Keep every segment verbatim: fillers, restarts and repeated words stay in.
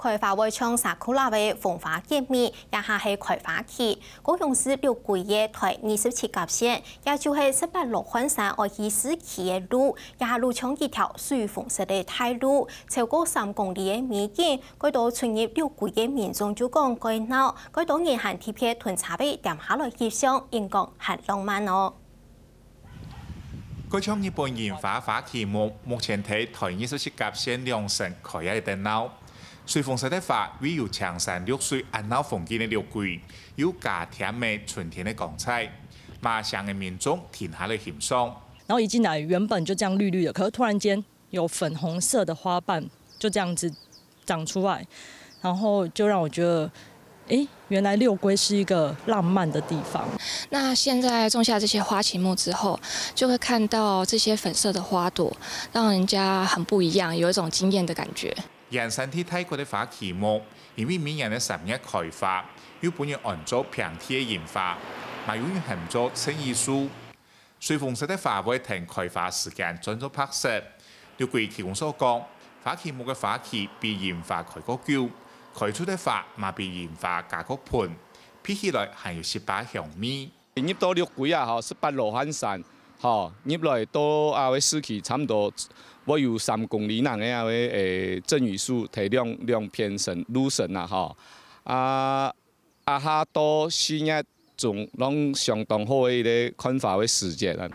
開花會像sakura个紅花結蜜，這下係開花期。高雄市六龜个台二十七甲線，也就係十八羅漢山愛去市區个路，這下路像一條水紅色个大路，超過三公里个美景，蓋多出入六龜个民眾就講蓋鬧，蓋多人還特別同車尾停下來翕相，應講還浪漫哦。 蓋像日本櫻花花期目，目前在台二十七甲線兩線開啊熱鬧。水紅色个花，為有青山綠水恁鬧風景个六龜，又加添了春天个光彩。馬上个民眾停下來欣賞。然後一進來，原本就這樣綠綠的，可是突然間有粉紅色的花瓣就這樣子長出來，然後就讓我覺得，誒，原來六龜是一個浪漫的地方。那現在種下這些花期目之後，就會看到這些粉色的花朵，讓人家很不一樣，有一種驚豔的感覺。圓山地大骨个花期目，因為每年个三月開花，又分人安做平地个櫻花，嘛有人喊做襯衣樹。 水紅色个花會跈開花時間轉做白色。六龜區公所講，花期目个花期比櫻花開較久，開出个花嘛比櫻花加較賁，鼻起來還有十八香味。入到六龜啊，吼，十八羅漢山，吼，入來到啊个市區差毋多會有三公里長个啊个誒，鎮雨樹，提兩兩片神路神啊，吼，啊。 啊下到四月中，攏相當好个一个看花个時節啊。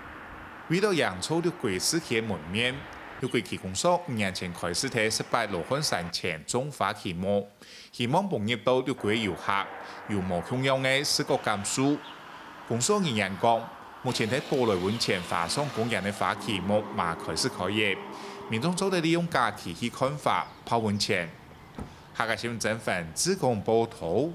為了營造六龜市區个門面，六龜區公所五年前開始在十八羅漢山前種花期目，希望分入到六龜个遊客有無共樣个視覺感受。公所人員講，目前在寶來溫泉花賞公園个花期目嘛開始開業，民眾做得利用假期去看花、泡溫泉。客家新聞曾凡志工報導。